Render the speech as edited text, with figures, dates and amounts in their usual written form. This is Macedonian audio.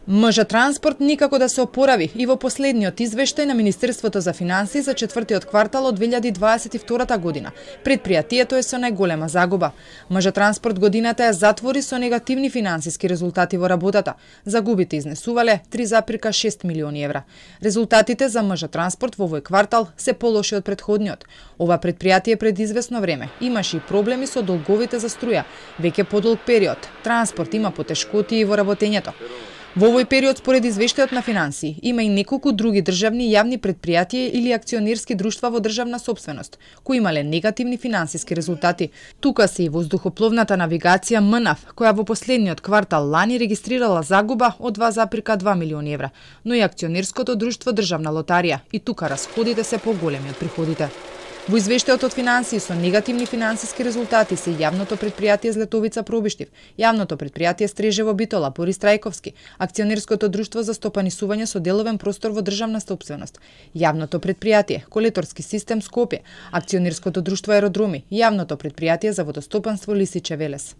МЖ Транспорт никако да се опорави и во последниот извештај на Министерството за финансии за четвртиот квартал од 2022 година. Предпријатието е со најголема загуба. МЖ Транспорт годината ја затвори со негативни финансиски резултати во работата. Загубите изнесувале 3,6 милиони евра. Резултатите за МЖ Транспорт во овој квартал се полоши од претходниот. Ова предпријатие пред известно време имаше и проблеми со долговите за струја. Веќе подолг период, Транспорт има потешкоти и во работењето. Во овој период, според извештајот на финансии, има и неколку други државни јавни предпријатија или акционерски друштва во државна собственост, кои имале негативни финансиски резултати. Тука се и воздухопловната навигација МНАВ, која во последниот квартал лани регистрирала загуба од 2,2 милиони евра, но и акционерското друштво Државна лотарија, и тука расходите се поголеми од приходите. Во извештајот од финансии со негативни финансиски резултати се јавното предпријатие Златовица Пробиштив, јавното предпријатие Стрежево Битола Борис Трајковски, акционерското друштво за стопанисување со деловен простор во државна собственост, јавното предпријатие Колеторски систем Скопје, акционерското друштво Аеродроми, јавното предпријатие за водостопанство Лисиче Велес.